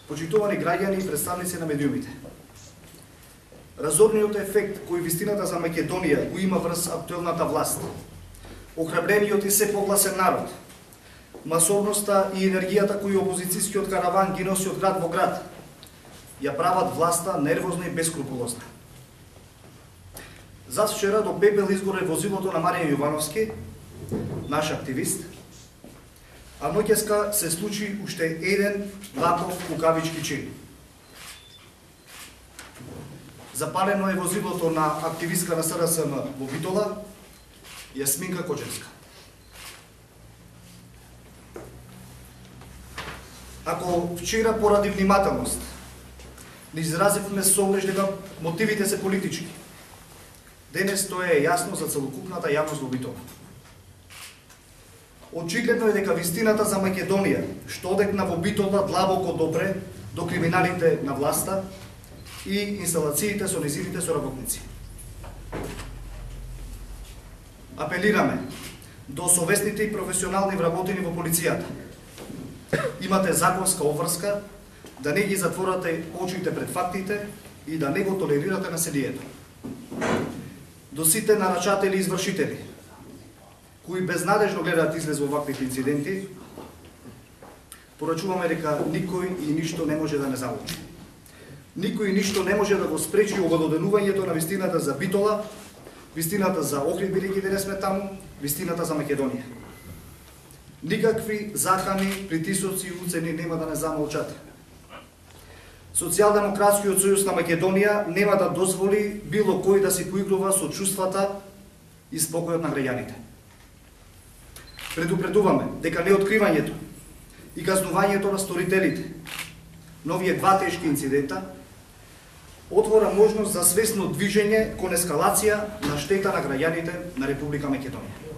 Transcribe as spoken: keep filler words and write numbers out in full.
Почитувани граѓани и представници на медиумите. Разорниот ефект кој вистината за Македонија го има врз актуелната власт, охрабрениот и се погласен народ, масовноста и енергијата кој опозицијскиот караван ги носи од град во град, ја прават власта нервозна и бескрупулозна. Зад вчера до пепел изгоре возилото на Маријан Јовановски, наш активист, а ноќеска се случи уште еден ваков кукавички чин. Запалено е возилото на активистка на С Д С М во Битола, Јасминка Кочевска. Ако вчера поради внимателност не изразивме совлеж дека мотивите се политички, денес тоа е јасно за целокупната јавност во Битола. Очигледно е дека вистината за Македонија, што одекна во Битола длабоко допре до криминалите на власта и инсталациите со незините соработници. Апелираме до совесните и професионални вработени во полицијата. Имате законска обврска да не ги затворате очите пред фактите и да не го толерирате насилието. До сите нарачатели и извршители, кои безнадежно гледаат излез во ваквите инциденти, порачуваме дека никој и ништо не може да не залучи. Никој и ништо не може да го спречи обелоденувањето на вистината за Битола, вистината за Охрид, бидејќи денес сме таму, вистината за Македонија. Никакви закани, притисоци и уцени нема да не замолчат. Социјалдемократскиот сојуз на Македонија нема да дозволи било кој да си поигрува со чувствата и спокојот на граѓаните. Предупредуваме дека неоткривањето и казнувањето на сторителите на овие два тешки инцидента отвора можност за свесно движење кон ескалација на штета на граѓаните на Република Македонија.